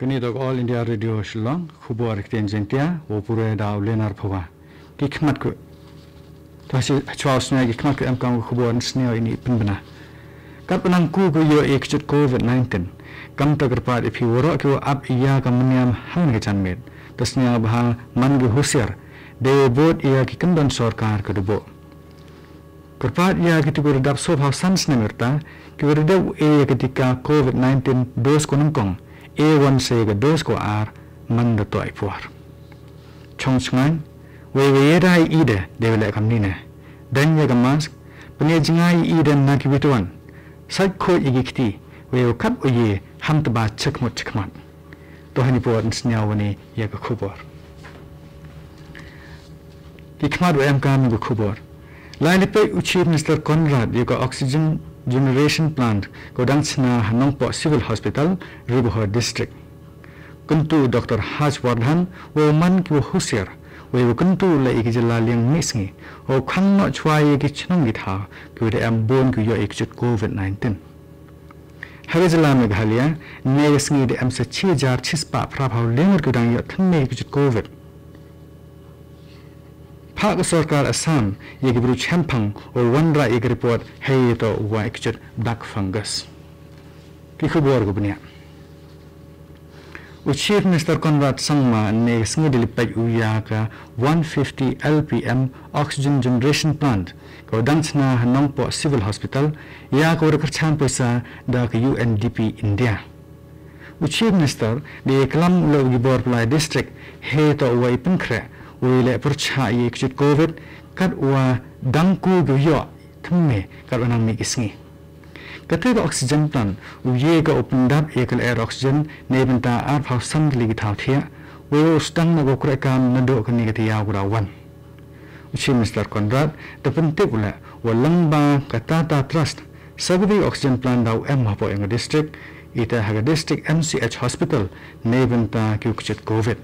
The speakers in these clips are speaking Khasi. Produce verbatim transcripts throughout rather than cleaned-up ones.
Kane dok All India Radio Shillong, khubor ktien Jaiñtia, u pure da u Lenar Phawa. Ki khmat ku. Ta shi chwa u snia ki khmat ku em kam khubor snia ini pynbna. Kat pynang ku ku yo e kjut covid nineteen. Kam ta kyrpad ipi woro ki wa ap iya ka meniam hang ni ka janmet. Ta snia bha man ki husiar. Dewe bot iya ki kendon sorkar ka dubo. Kyrpad ïa kito ki wa dap sophaw san snem ïa rta, ki wa dap e ïa ka tika covid nineteen dos ko nyngkong, e wan sa ïa ka dos ko ar, man da toh i por. Chong chngain, wei wei ïa da i ide, de wei leh kam nine. Dan ïa ka mask, pynïa jngai i ide na ki wituan. Sait khoi ïa ki kti, wei wei kat wei ïa, ham tba chekmot chekmat. To hani por nsnyaw wani ïa ka khubor. Ki khmat wa em kam ka khubor. Lai lipei u Chief Minister Conrad ïa ka Oxygen Generation Plant ka dang chna ha Nongpoh Civil Hospital, Ri Bhoi District. Kyntu Doctor Harsh Vardhan wa man ki wa husiar, wa wa kyntu la ïa ki jylla liang misngi, wa khang no chwa ïa ki chnong ki thaw, ki wa da em bun ki wa ïoh ïa ki jut covid nineteen. Ha ka jylla Meghalaya, ne ka sngi da em sa chi hajar chi spah phra phaw lyngngoh ki dang ïoh thymme ki jut covid. Phah ka sorkar Assam, ïa ki bru chemphang, o wanrah ïa ki report, hei to wa ki jut black fungus. Ki khubor ka bniah. U Chief Minister Conrad Sangma ne ka sngi da lipait u ïa ka one fifty L P M Oxygen Generation Plant, ka wa dang chna ha Nongpoh Civil Hospital, ïa ka wa da kyrchan poisa da ka U N D P India. U Chief Minister da ïa klam u la u Gibor Palai District, he to u wa i pynkhreh, u i leh pyrchah ïa ki jut covid, kat wa dang ku ki ïoh, thymme, kat wa nang mih ki sngi. Kata ka oxygen plant, u ye ka u pyndap ïa ka lyer oxygen, ne bynta arphaw san tylli ki thaw thiah, wei u sdang na ka kreh kam naduh kane ka thaw ka da wan. U Chief Minister Conrad, da pyntip u leh, wa lyngba ka Tata Trust, sa kawei oxygen plant da u em hapoh ïa ka district, ita ha ka district M C H hospital, ne bynta ki u kjut covid.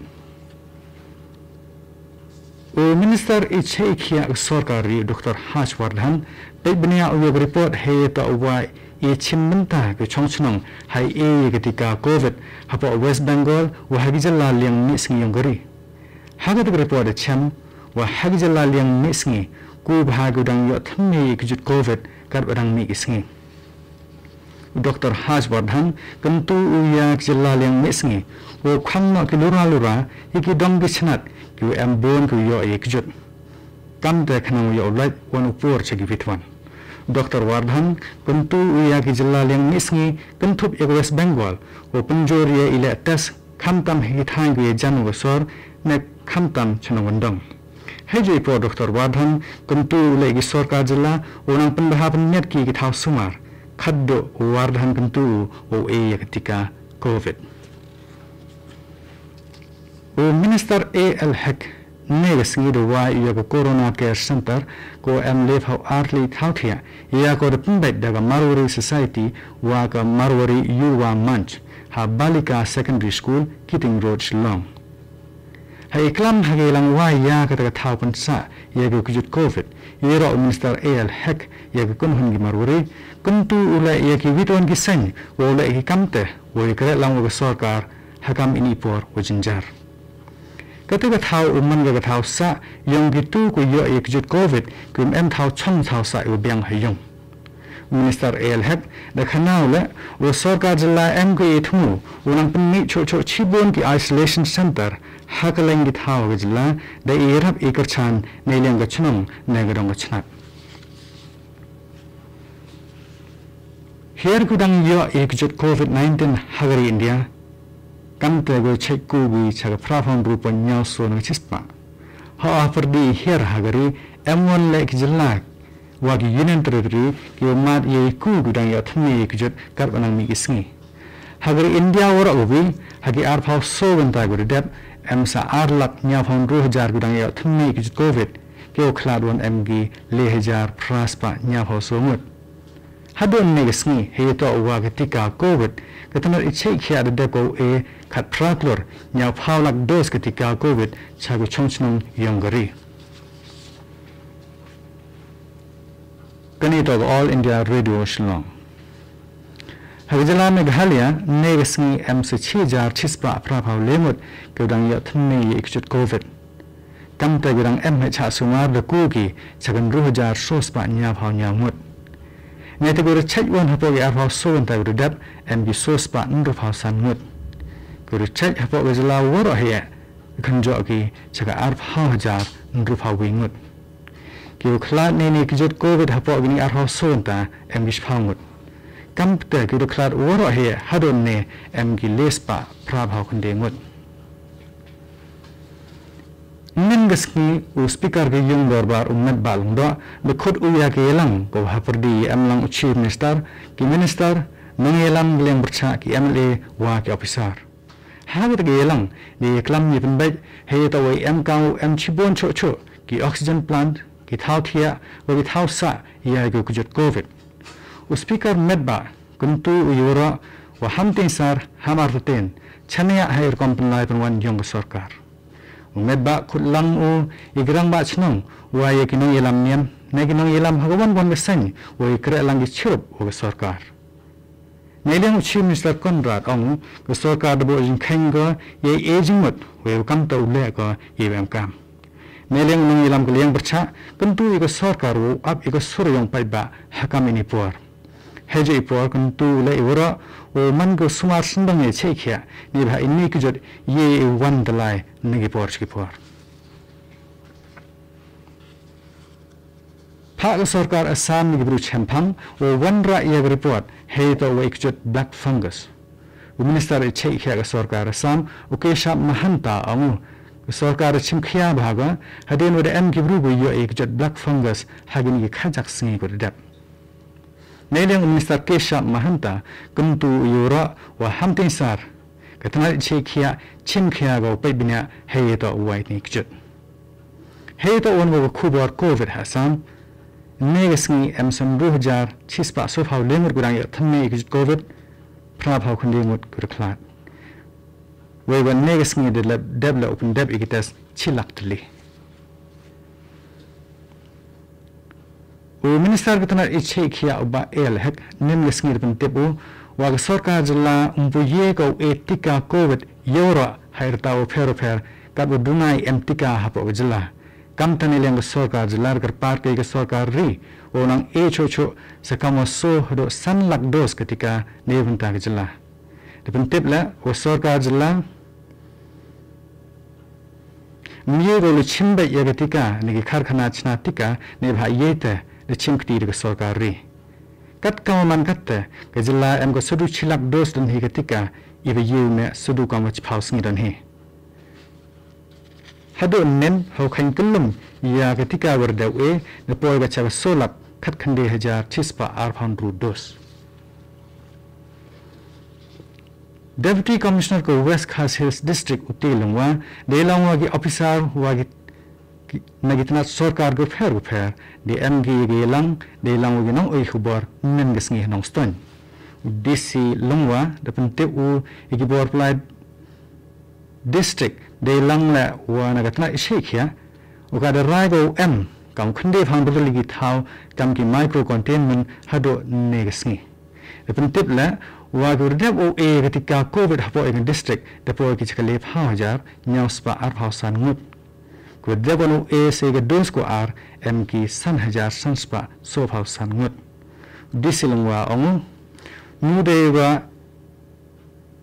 U Minister i chei i khiah ka sorkar ri Doctor Harsh Vardhan, peit bniah u ïa ka report hei ta u wa i chim bynta ka chong chnong hai e ïa ka tika covid hapoh West Bengal wa ha ki jylla liang mih sngi yong ka ri. Ha kata ka report da chem wa ha ki jylla liang mih sngi ku bha ka dang ïoh thymme ïa ka jut covid kat wa dang mih ki sngi. U Doctor Harsh Vardhan kyntu u ïa ki jylla liang mih sngi, u khang noh ki lura lura ïa ki dong ki chnat ki u em bun ki u ïoh ïa ki jut. Kam te khnang u ïoh u lait wan u por cha ki wit wan. Doctor Vardhan kyntu u ïa ki jylla liang mih sngi kynthup ïa ka West Bengal, u pynjur ïa i leh test khamtam ha ki thaiñ ki u ïa jan u ka sor ne khamtam cha nongkyndong. Hei jui por Doctor Vardhan kyntu u leh ki sorkar jylla u nang pynbha pynmiat ki ki thaw sumar. Khadduh u Vardhan kyntu u u e ïa ka tika covid. U Minister A L Hek ne ka sngi da wai ïa ka Corona Care Center ko em leh phaw ar tylli thaw thiah ïa ko da pynbeit da ka Marwari Society wa ka Marwari Yuva Manch ha Balika Secondary School, Keating Road, Shillong. Ha i klam ha ka i lang wai ïa kata ka thaw pynsah ïa ka kjut covid, ïa roh u Minister A L Hek ïa ka kynhun ki Marwari, kyntu u leh ïa ki wit wan ki seng wa u leh ki kam te wa ïa ka leh lang wa ka sorkar ha kam ini por wa jynjar. Kata ka thaw u man ka ka thaw sah ïong kitu ku ïoh ïa kjut covid, ku em thaw chong thaw sah u biang ha ïong. Minister A L Hek da khana u leh, u sorkar jylla em ka i thmu u nang pynmih chuh chuh chibun ki isolation center ha ka leng ki thaw ka jylla da i rap i kyrchan ne liang ka chnong ne ka dong ka chnat. Hiar ku dang ïoh i kjut covid nineteen ha ka ri India. Kam te ku chek ku gi cha ka phra phaw hynriew point hynñiew so na ka chispah. Ha u pyrdi hiar ha ka ri em wan leh ki jylla wa ki Union Territory ki wa mad ïa i ku ku dang ïoh thymme ïa kjut kat wa nang mih ki sngi. Ha ka ri India waroh ka wi, ha ki arphaw so kynta ku da dep, em sa ar lak hynñiew phaw hynriew hajar ku dang ïoh thymme ïa kjut covid, ki wa khlad wan em ki le hajar phra spah hynñiew phaw so ngut. Haduh ne ka sngi, hei to wa ka tika covid, ka tnat i chei khia da dep ko e khat phra klur, hynñiew phaw lak dos ka tika covid, cha ka chong chnong yong ka ri. Kani to ka All India Radio Shillong. Ha ka jylla Meghalaya, ne ka sngi em sa shi hajar shi spah phra phaw le ngut ki dang ïoh thymme ïa ki jot covid. Kamte ki dang em ha sha sumar da ku ki sha ka hynriew hajar so spah hynñiew phaw hynñiew ngut. Ngi te ki ruh chait wan hapoh ki arphaw so ngut ki ruh dep em ki so spah hynriew phaw san ngut. Ki ruh chait hapoh ka jylla waroh hi, kynjoh ki sha ka arphaw hajar hynriew phaw wi ngut. Ki ruh khlad ne ne ki jot covid hapoh kini arphaw so ngut em ki shiphaw ngut. Kamte ki ruh khlad waroh hi hadon ne em ki le spah phra phaw khyndai ngut. Mynne ka sngi u speaker ka ïing dorbar u Metbah Lyngdoh, da khot u ïa ka ïalang ko ha pyrdi em lang u chief minister, ki minister, nongïalam ka liang pyrshah ki M L A wa ki officer. Ha kata ka ïalang, da ïaklam ïa pynbeit, ha ïa ta wei em kaw em shibun shuh shuh, ki oxygen plant, ki thaw thiah, wa ki thaw sah, ïa ki jot covid. U speaker Metbah, kyntu u ïa waroh, wa ham tyngsar, ham artatien, shaniah ha ïa rukom pynlai pynwan ïong ka sorkar. U Metbah khot lang u, ïa ki rangbah shnong, wa ïa ki nongïalam niam, ne ki nongïalam ha ka wan wan ka seng, wa ïa kreh lang ki chirup, wa ka sorkar. Ne liang u chief minister Conrad ong u, ka sorkar da buh jingkheiñ ko, ïa ïa jingmut, wa ïa kamte u leh ko, ïa em kam. Ne liang u nongïalam ka liang pyrshah, kyntu ïa ka sorkar u ap ïa ka sur ïong paidbah, ha kam ini por. Hei jong i por kyntu leh i waroh, u man ka sumar sngewdang ïa shait khiah, ne bha ini ki jot ïa i wan dalai, ne ki por shi ki por. Phah ka sorkar Assam ne ki bru chemphang, u wanrah ïa ka report, hei to wa i ki jot black fungus. U minister i shait khiah ka sorkar Assam, u Keshab Mahanta ong u, ka sorkar chimkhia bha ka, hadien wa da em ki bru ko ïoh ïa ki jot black fungus, ha kini ki khajak sngi ko da dep. Nai liang u Minister Keshab Mahanta, kyntu u ïa waroh, wa ham tyngsar. Ka tnat i shait khiah, chimkhia ka u peit bniah, hei ïa to u wai ni kjut. Hei ïa to wan wa ka khubor covid ha Assam. Ne ka sngi em san ru hajar, chispah sophaw le ngut ko dang ïoh thymme ïa kjut covid, phra phaw khyndai ngut ko da khlad. Wei wa ne ka sngi da lep dep la u pyndep ïa ki test, chi lak tylli. U Minister ka tnat i shait khiah u Bah A L Hek, ne ka sngi da pyntip u, wa ka sorkar jylla um pu ïa ka u e tika covid, ïa waroh ha i rta u pher u pher, kat wa duna i em tika hapoh ka jylla. Kam tang ne liang ka sorkar jylla da kyrpad ka ïa ka sorkar ri, wa u nang e choh choh, sa kam wa so haduh san lak dos ka tika, ne bynta ka jylla. Da pyntip leh, wa sorkar jylla, mih ko la chim beit ïa ka tika, ne ki karkhana chna tika, ne bha ïa te, la chim kti da ka sorkar ri. Kat ka man kat te, ka jylla em ka sa du chi lak dos don hi ka tika, i ba ïa u me sa du kam wa chiphaw sngi don hi. Haduh nen, haw khang kyllum, ïa ka tika wa da u e, na poi ka cha ka so lak, khat khyndai hajar, chispah arphaw ru dos. Deputy Commissioner ka West Khasi Hills District u T Lyngwa, da ïalang wa ki officer wa ki, ki, na ki tnat sorkar ko pher ko pher, da em ki ïa ki ïalang, da ïalang wa ki nong oi khubor, men ka sngi ha Nongstoiñ. U D C Lyngwa, da pyntip u ïa ki bor Pylai District, da ïalang leh wa na ka tnat i shait khiah, u ka da rai ko u em, kam khyndai phaw tylli ki thaw, kam ki micro containment, haduh ne ka sngi. Da pyntip leh, wa ki wa da dep u e ka tika covid hapoh ïa ka district, da poi ki cha ka le phaw hajar, hynñiew spah arphaw san ngut. Ki wa da dep u e sa ïa ka dos ko ar, em ki san hajar san spah sophaw san ngut. D C Lyngwa ong u, nu dei wa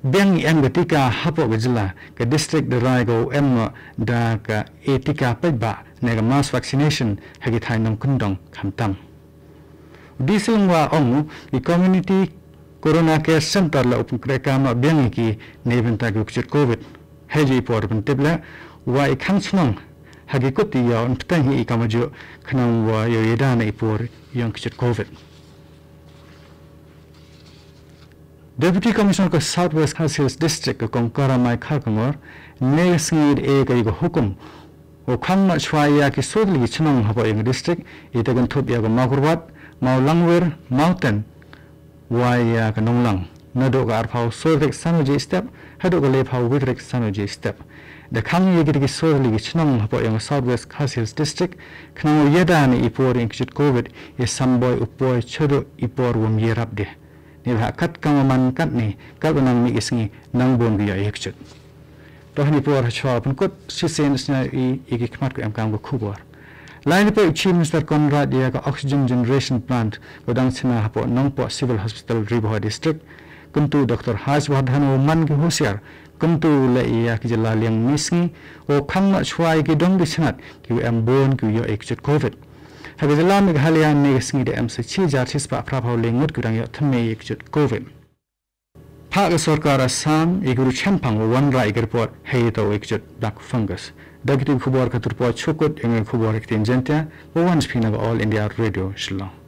biang i em ka tika hapoh ka jylla, ka district da rai ko u em noh da ka e tika paidbah, ne ka mass vaccination, ha ki thaiñ nongkyndong khamtam. U D C Lyngwa ong u, i Community Corona Care Center la u pynkhreh kam noh biang ïa ki ne bynta ki kjut covid. Hei jong i por pyntip leh, wa i khang chnong, ha ki kut i ïoh yn pteng hi i kam wa juh, khnang wa ïoh ïada na i por ïong kjut covid. Deputy Commissioner ka South West Khasi Hills District ka Kong Karamai Kharkongor, ne ka sngi da e ka ïa ka hukum, u khang noh chwa ïa ki sawtylli ki chnong hapoh ïa ka district, ïa te kynthup ïa ka Mawkyrwat, Mawlangwir, Mawten, wa ïa ka Nonglang. Naduh ka arphaw saw tarik san baje step, haduh ka lephaw wei tarik san baje step. Da khang ïa kita ki sawtylli ki chnong hapoh ïa ka South West Khasi Hills District, khnang u ïada na i por ïa kjut covid, ïa samboi u poi shaduh i por wym ïarap de. Neibhah kat kam u man katne, kat ba nang mih ki sngi, nang bun ki ïoh ïa ki kjut. Toh ni por ha chwa pynkut, shisien sngap ïa ki khmat ki em kam ka khubor. Lai ni por Chief Minister Conrad ïa ka Oxygen Generation Plant, ka dang chna hapoh Nongpoh Civil Hospital Ri Bhoi District. Kyntu Doctor Harsh Vardhan u man ki husiar, kyntu leh ïa ki jylla liang misngi, u khang noh chwa ïa ki dong ki chnat, ki em bun ki ïoh ïa ki kjut Covid. Ha ka jylla Meghalaya ne ka sngi da em sa chi hajar chi spah phra phew le ngut ki dang ïoh thymme ïa ki kjut Covid. Phah ka sorkar Assam ïa ki ruh chempang u wanrah ïa ki report hei to ïa ki kjut black fungus. Da kito ki khubor ka turpoi chukut ïa ki khubor ha ktien Jaiñtia, u wan sha phi na ka All India Radio Shillong.